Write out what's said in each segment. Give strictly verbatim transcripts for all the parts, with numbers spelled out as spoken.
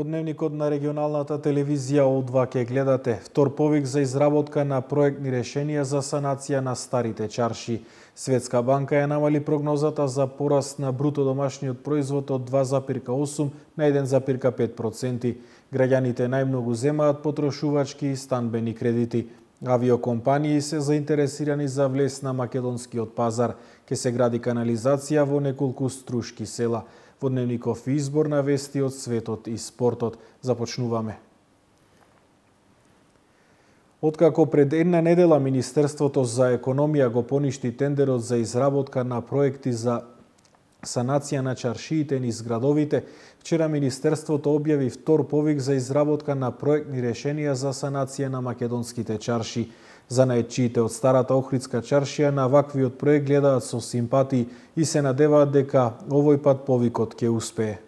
Дневникот на регионалната телевизија О два ке гледате. Втор повик за изработка на проектни решенија за санација на старите чарши. Светска банка ја намали прогнозата за пораст на бруто домашниот производ од два зарез осум на еден зарез пет проценти. Граѓаните најмногу земаат потрошувачки и станбени кредити. Авиокомпании се заинтересирани за влез на македонскиот пазар. Ке се гради канализација во неколку струшки села. Во Дневников избор на вести од светот и спортот. Започнуваме. Откако пред една недела Министерството за економија го поништи тендерот за изработка на проекти за санација на чаршиите низ градовите, вчера Министерството објави втор повик за изработка на проектни решенија за санација на македонските чарши. Занаетчиите од старата Охридска чаршија на ваквиот проект гледаат со симпатии и се надеваат дека овој пат повикот ќе успее.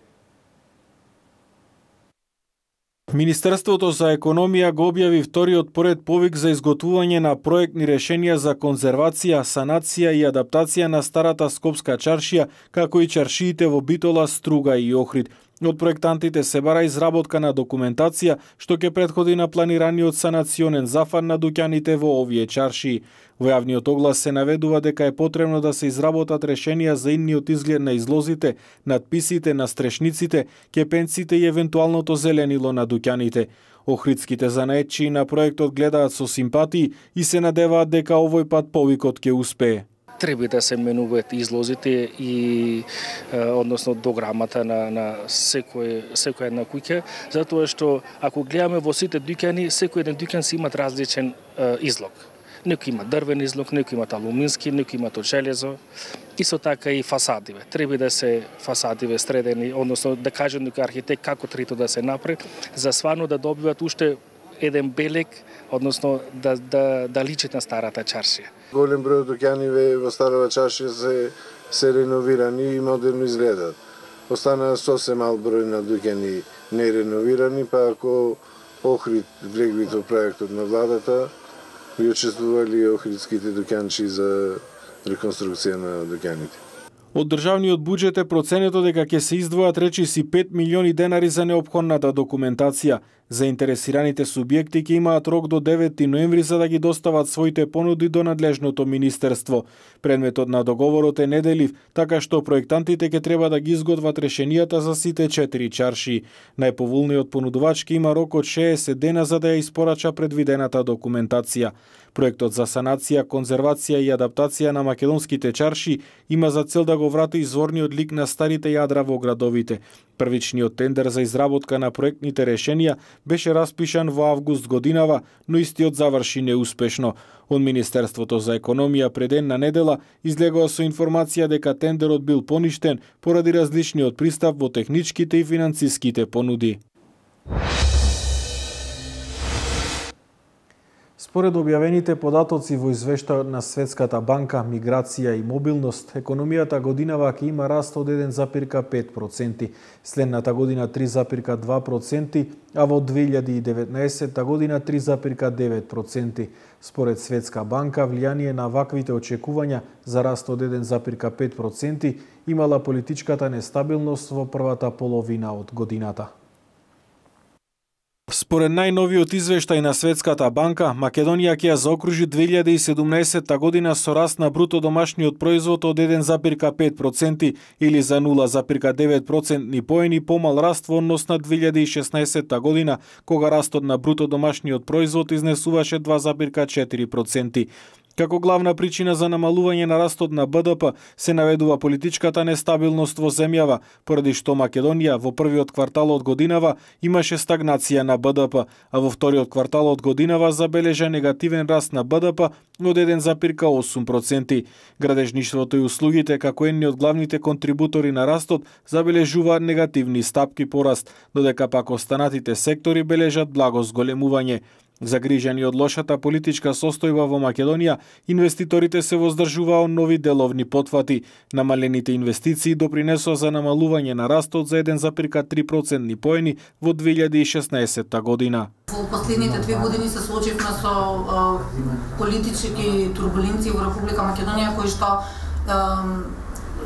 Министерството за економија го објави вториот поред повик за изготвување на проектни решенија за конзервација, санација и адаптација на старата Скопска чаршија, како и чаршиите во Битола, Струга и Охрид. Од проектантите се бара изработка на документација што ќе претходи на планираниот санационен зафар на дуќаните во овие чаршии. Во јавниот оглас се наведува дека е потребно да се изработат решенија за идниот изглед на излозите, надписите, на стрешниците, кепенците и евентуалното зеленило на дуќаните. Охридските занаетчии на проектот гледаат со симпатии и се надеваат дека овој пат повикот ќе успее. Треба да се менуваат излозите и односно дограмата на на секој секоја една куќа, затоа што ако гледаме во сите дуќани, секој еден дуќан си имат различен е, излог. Некој има дрвен излог, некој има алумински, некој има од железо. Исто така и фасадиве. Треба да се фасадиве средени, односно да кажем некој архитект како трето да се направи, за сварно да добиват уште еден белег, односно да да да личат на старата чаршија. Голем број дуќани во старата чаршија се се реновирани и модерно изгледаат. Остана сосем мал број на дуќани нереновирани, па ако Охрид влегли во проектот на владата, би учествували охридските дуќанчи за реконструкција на дуќаните. Од државниот буџет е проценето дека ќе се издвојат речиси пет милиони денари за неопходната документација. Заинтересираните субјекти ќе имаат рок до девети ноември за да ги достават своите понуди до надлежното министерство. Предметот на договорот е неделив, така што проектантите ќе треба да ги изготват решенијата за сите четири чаршии. Најповолниот понудувач ќе има рок од шеесет дена за да ја испорача предвидената документација. Проектот за санација, конзервација и адаптација на македонските чаршии има за цел да го врати изворниот лик на старите јадра во градовите. Првичниот тендер за изработка на проектните решенија беше распишан во август годинава, но истиот заврши неуспешно. Од Министерството за економија пред една недела излегува со информација дека тендерот бил поништен поради различниот пристап во техничките и финансиските понуди. Според објавените податоци во извештајот на Светската банка, миграција и мобилност, економијата годинава ќе има раст од еден зарез пет проценти, следната година три зарез два проценти, а во две илјади и деветнаесетта година три зарез девет проценти. Според Светска банка, влијание на ваквите очекувања за раст од еден зарез пет проценти имала политичката нестабилност во првата половина од годината. Според најновиот извештај на Светската банка, Македонија ќе ја заокружи две илјади и седумнаесетта година со раст на бруто домашниот производ од еден зарез пет проценти или за нула зарез девет процентни поени помал раст во однос на две илјади и шеснаесетта година, кога растот на бруто домашниот производ изнесуваше два зарез четири проценти. Како главна причина за намалување на растот на Б Д П се наведува политичката нестабилност во земјава, поради што Македонија во првиот квартал од годинава имаше стагнација на Б Д П, а во вториот квартал од годинава забележа негативен раст на Б Д П од еден зарез осум проценти. Градежништвото и услугите, како едни од главните контрибутори на растот, забележуваат негативни стапки пораст, додека пак останатите сектори бележат благо зголемување. Загрижени од лошата политичка состојба во Македонија, инвеститорите се воздржуваа од нови деловни потфати. Намалените инвестиции допринесоа за намалување на растот за еден зарез три процентни поени во две илјади и шеснаесетта година. Во последните две години се соочивме со а, политички турбуленции во Република Македонија, кои што а,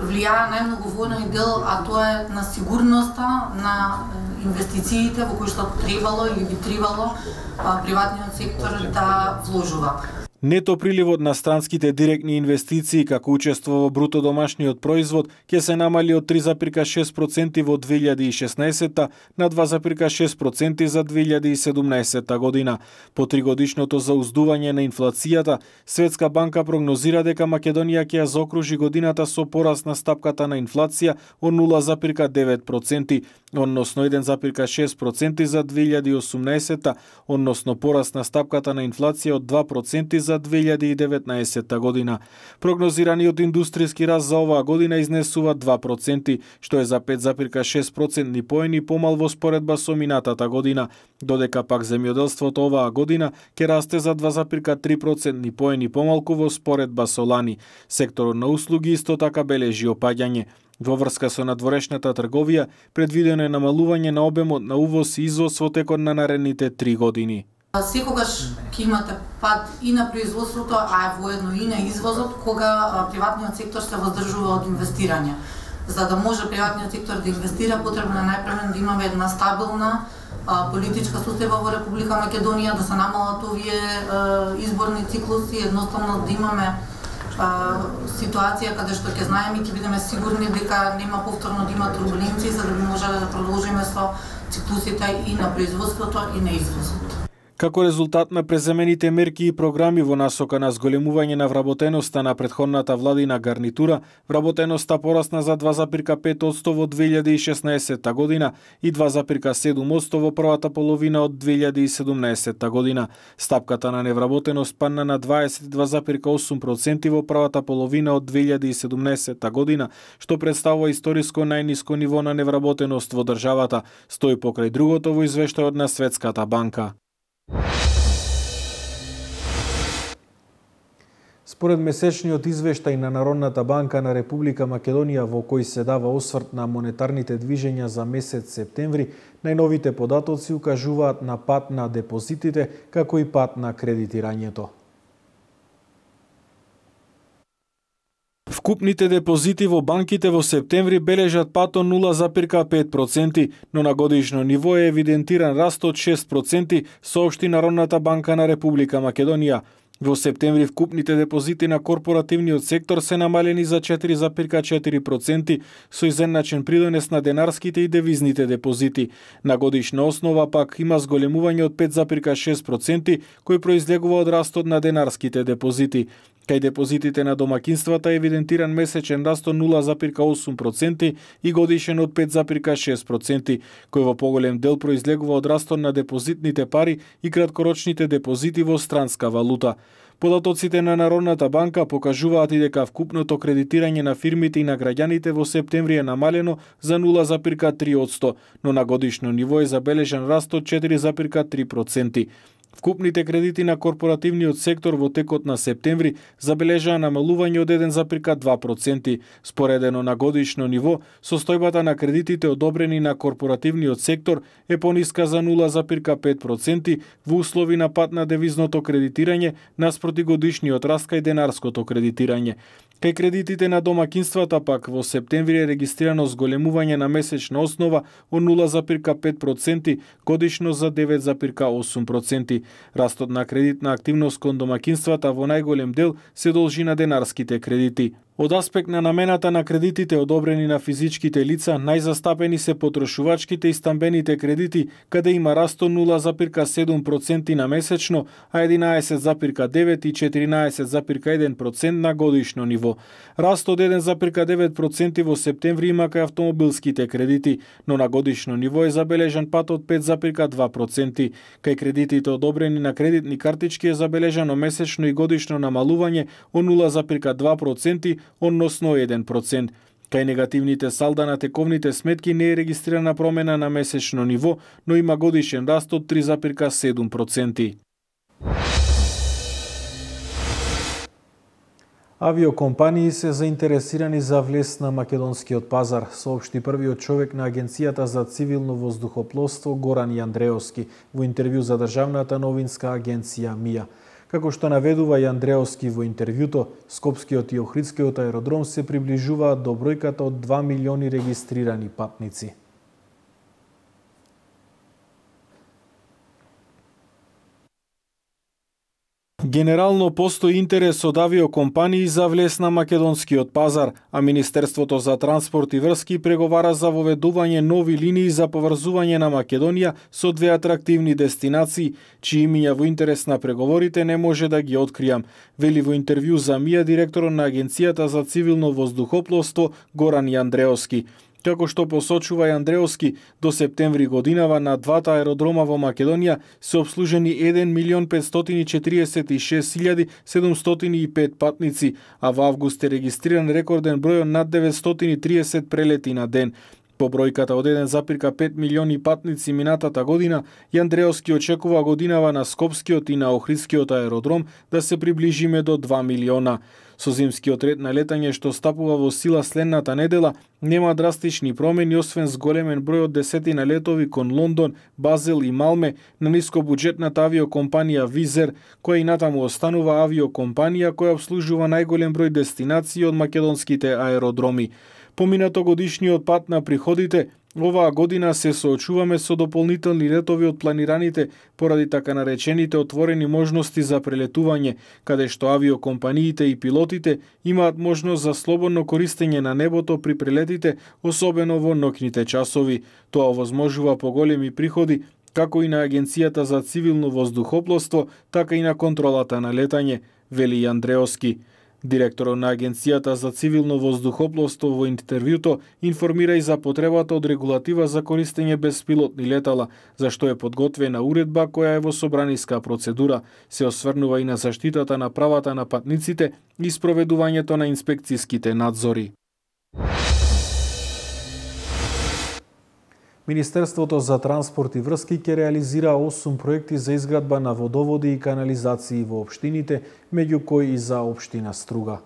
влијае најмногу во оној дел, а тоа е на сигурноста на инвестициите во кои што требало или би требало приватниот сектор да вложува. Нето приливот на странските директни инвестиции како учество во бруто домашниот производ ќе се намали од три зарез и шест проценти во две илјади и шеснаесетта на два зарез и шест проценти за две илјади и седумнаесетта година. По тригодишното зауздување на инфлацијата, Светска банка прогнозира дека Македонија ќе ја заокружи годината со пораст на стапката на инфлација од нула зарез и девет проценти, односно еден зарез и шест проценти за две илјади и осумнаесетта, односно пораст на стапката на инфлација од два проценти за две илјади и деветнаесетта година. Прогнозираниот индустријски раст за оваа година изнесува два проценти, што е за пет зарез и шест процентни поени помал во споредба со минатата година, додека пак земјоделството оваа година ќе расте за два зарез и три процентни поени помалку во споредба со лани. Секторот на услуги исто така бележи опаѓање. Во врска со надворешната трговија, предвидено е намалување на обемот на увоз и извоз во текот на наредните три години. Секогаш ќе имате пад и на производството, а воедно и на извозот, кога приватниот сектор се воздржува од инвестирање. За да може приватниот сектор да инвестира, потребно е најпрвен да имаме една стабилна политичка состојба во Република Македонија, да се намалат овие изборни циклуси, едноставно да имаме ситуација каде што ќе знаеме и ќе бидеме сигурни дека нема повторно да има турбуленции, за да би можеле да продолжиме со циклусите и на производството и на извозот. Како резултат на преземените мерки и програми во насока на зголемување на вработеноста на претходната владина гарнитура, вработеноста порасна за два зарез и пет одсто во две илјади и шеснаесетта година и два зарез и седум одсто во првата половина од две илјади и седумнаесетта година. Стапката на невработеност падна на дваесет и два зарез и осум проценти во првата половина од две илјади и седумнаесетта година, што представува историско најниско ниво на невработеност во државата, стои покрај другото во извештајот на Светската банка. Според месечниот извештај на Народната банка на Република Македонија, во кој се дава осврт на монетарните движења за месец септември, најновите податоци укажуваат на пат на депозитите, како и пат на кредитирањето. Вкупните депозити во банките во септември бележат пат од нула зарез и пет проценти, но на годишно ниво е евидентиран раст од шест проценти, соопшти Народната банка на Република Македонија. Во септември вкупните депозити на корпоративниот сектор се намалени за четири зарез и четири проценти, со изедначен придонес на денарските и девизните депозити. На годишна основа пак има зголемување од пет зарез и шест проценти, кој произлегува од растот на денарските депозити. Кај депозитите на домакинствата е евидентиран месечен раст од нула зарез и осум проценти и годишен од пет зарез и шест проценти, кој во поголем дел произлегува од растот на депозитните пари и краткорочните депозити во странска валута. Податоците на Народната банка покажуваат и дека вкупното кредитирање на фирмите и на граѓаните во септември е намалено за нула зарез и три одсто, но на годишно ниво е забележан раст од четири зарез и три проценти. Вкупните кредити на корпоративниот сектор во текот на септември забележаа намалување од еден зарез и два проценти. Споредено на годишно ниво, состојбата на кредитите одобрени на корпоративниот сектор е пониска за нула зарез и пет проценти во услови на пат на девизното кредитирање наспроти годишниот раст кај денарското кредитирање. Кај кредитите на домакинствата пак во септември е регистрирано зголемување на месечна основа од нула зарез и пет проценти, годишно за девет зарез и осум проценти. Растот на кредитна активност кон домакинствата во најголем дел се должи на денарските кредити. Од аспект на намената на кредитите одобрени на физичките лица, најзастапени се потрошувачките и стамбените кредити, каде има раст од нула зарез и седум проценти на месечно, а единаесет зарез и девет и четиринаесет зарез и еден процент на годишно ниво. Раст од еден зарез и девет проценти во септември има кај автомобилските кредити, но на годишно ниво е забележан пат од пет зарез и два проценти. Кај кредитите одобрени на кредитни картички е забележано месечно и годишно намалување од нула зарез и два проценти, односно еден процент. Кај негативните салда на тековните сметки не е регистрирана промена на месечно ниво, но има годишен раст од три зарез и седум проценти. Авиокомпании се заинтересирани за влез на македонскиот пазар, соопшти првиот човек на Агенцијата за цивилно воздухопловство Горан Јандреовски во интервју за државната новинска агенција МИА. Како што наведува и Андреовски во интервјуто, Скопскиот и Охридскиот аеродром се приближуваат до бројката од два милиони регистрирани патници. Генерално постои интерес од авиокомпании за влез на македонскиот пазар, а Министерството за транспорт и врски преговара за воведување нови линии за поврзување на Македонија со две атрактивни дестинации, чии имиња во интерес на преговорите не може да ги откријам, вели во интервју за МИА директорот на Агенцијата за цивилно воздухопловство Горан Јандреовски. Како што посочува и Андреовски, до септември годинава на двата аеродрома во Македонија се обслужени еден милион петстотини четиридесет и шест илјади седумстотини и пет патници, а во август е регистриран рекорден број од над деветстотини и триесет прелети на ден. По бројката од еден запирка пет милиони патници минатата година, Јандреовски очекува годинава на Скопскиот и на Охридскиот аеродром да се приближиме до два милиона. Со зимскиот ред на летање што стапува во сила следната недела, нема драстични промени освен зголемен број од десетина летови кон Лондон, Базел и Малме на нискобуџетната авиокомпанија Визер, која и натаму останува авиокомпанија која обслужува најголем број дестинации од македонските аеродроми. Поминато годишниот пат на приходите, оваа година се соочуваме со дополнителни летови од планираните поради така наречените отворени можности за прелетување, каде што авиокомпаниите и пилотите имаат можност за слободно користење на небото при прелетите, особено во ноќните часови. Тоа овозможува поголеми приходи како и на Агенцијата за цивилно воздухопловство, така и на контролата на летање, вели Андреовски. Директорот на Агенцијата за цивилно воздухопловство во интервјуто информира и за потребата од регулатива за користење беспилотни летала, за што е подготвена уредба која е во собраниска процедура. Се осврнува и на заштитата на правата на патниците и спроведувањето на инспекцијските надзори. Министерството за транспорт и врски ќе реализира осум проекти за изградба на водоводи и канализации во општините, меѓу кои и за општина Струга.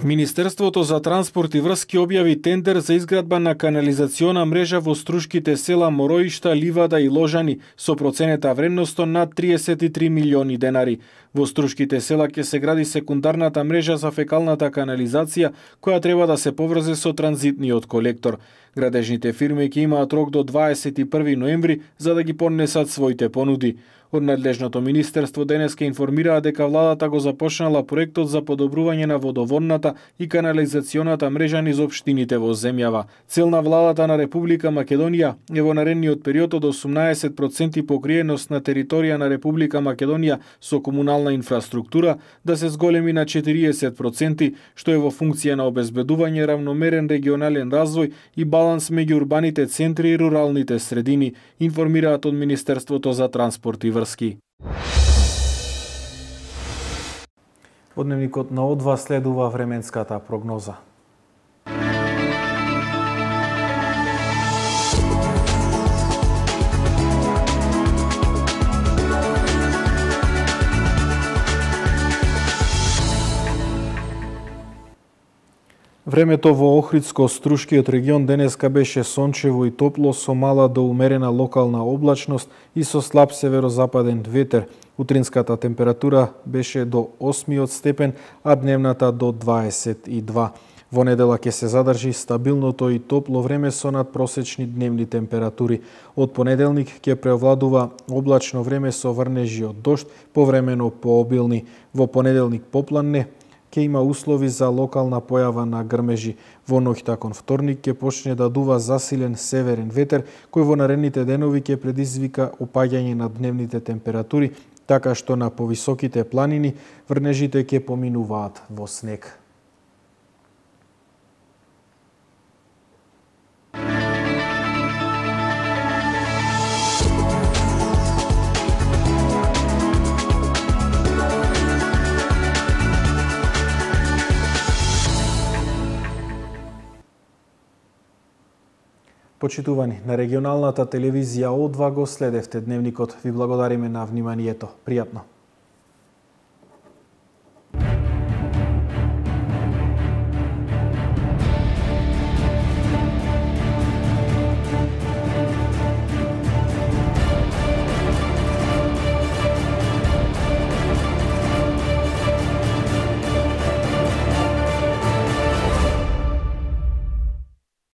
Министерството за транспорт и врски објави тендер за изградба на канализациона мрежа во струшките села Мороишта, Ливада и Ложани со проценета вредност над триесет и три милиони денари. Во струшките села ќе се гради секундарната мрежа за фекалната канализација, која треба да се поврзе со транзитниот колектор. Градежните фирми ќе имаат рок до дваесет и први ноември за да ги поднесат своите понуди. Од надлежното министерство денеска информираа дека владата го започнала проектот за подобрување на водоводната и канализационата мрежа низ општините во земјава. Цел на владата на Република Македонија е во наредниот период од осумнаесет проценти покриеност на територија на Република Македонија со комунална инфраструктура да се зголеми на четириесет проценти, што е во функција на обезбедување равномерен регионален развој и баланс меѓу урбаните центри и руралните средини, информираат од Министерството за транспорт и врски. Од дневникот на О два следува временската прогноза. Времето во Охридско-Струшкиот регион денеска беше сончево и топло со мала до умерена локална облачност и со слаб северозападен ветер. Утринската температура беше до осмиот степен, а дневната до дваесет и два. Во недела ќе се задржи стабилното и топло време со надпросечни дневни температури. Од понеделник ќе преовладува облачно време со врнежи од дожд, повремено пообилни. Во понеделник попладне ќе има услови за локална појава на грмежи. Во ноќта кон вторник ќе почне да дува засилен северен ветер, кој во наредните денови ќе предизвика опаѓање на дневните температури, така што на повисоките планини врнежите ќе поминуваат во снег. Почитувани, на регионалната телевизија О два го следевте дневникот. Ви благодариме на вниманието. Пријатно.